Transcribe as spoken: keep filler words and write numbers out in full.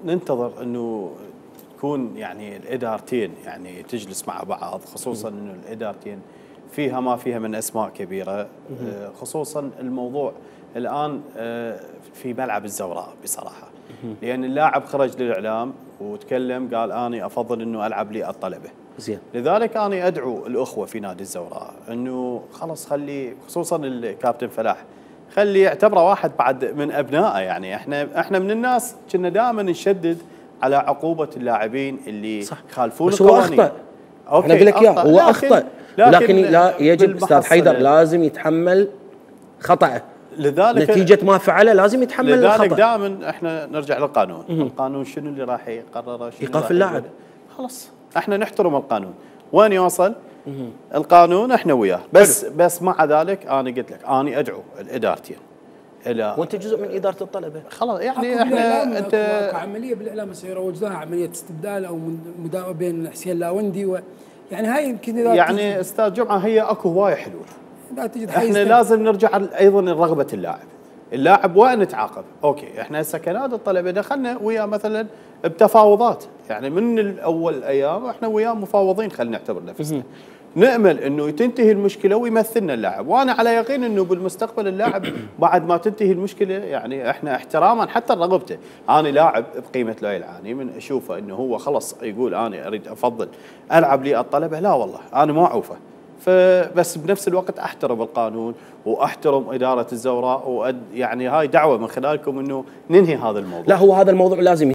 ننتظر انه تكون يعني الادارتين يعني تجلس مع بعض، خصوصا انه الادارتين فيها ما فيها من اسماء كبيره، خصوصا الموضوع الان في ملعب الزوراء بصراحه، لان اللاعب خرج للاعلام وتكلم قال اني افضل انه العب لي الطلبه. زين. لذلك انا ادعو الاخوه في نادي الزوراء انه خلص خلي، خصوصا الكابتن فلاح، خلي يعتبره واحد بعد من ابنائه. يعني احنا احنا من الناس كنا دائما نشدد على عقوبه اللاعبين اللي يخالفون القوانين. بس هو اخطا. انا اقول لك اياه، هو اخطا، لكن لا يجب استاذ حيدر لازم يتحمل خطأه. لذلك نتيجة ما فعله لازم يتحمل الخطأ. لذلك دائما احنا نرجع للقانون. مم. القانون شنو اللي راح يقرره؟ ايقاف اللاعب. خلاص احنا نحترم القانون، وين يوصل مم. القانون احنا وياه. بس حلو. بس مع ذلك انا قلت لك انا ادعو الادارتين الى، وانت جزء من اداره الطلبه خلاص. يعني احنا انت عمليه بالاعلام سيروج لها عمليه استبدال او مداومه بين حسين لاوندي و يعني هاي يمكن اذا يعني استاذ جمعه هي اكو هوايه حلول. احنا لازم نرجع ايضا لرغبه اللاعب. اللاعب وين نتعاقب؟ اوكي احنا هسه كنادي الطلبه دخلنا وياه مثلا بتفاوضات، يعني من الاول ايام احنا وياه مفاوضين، خلينا نعتبر نفسنا. نامل انه تنتهي المشكله ويمثلنا اللاعب، وانا على يقين انه بالمستقبل اللاعب بعد ما تنتهي المشكله، يعني احنا احتراما حتى لرغبته، انا لاعب بقيمه لؤي العاني من اشوفه انه هو خلص يقول انا اريد افضل العب لي الطلبه، لا والله انا ما اعوفه. فبس بنفس الوقت احترم القانون واحترم اداره الزوراء، وأد يعني هاي دعوه من خلالكم انه ننهي هذا الموضوع. لا هو هذا الموضوع لازم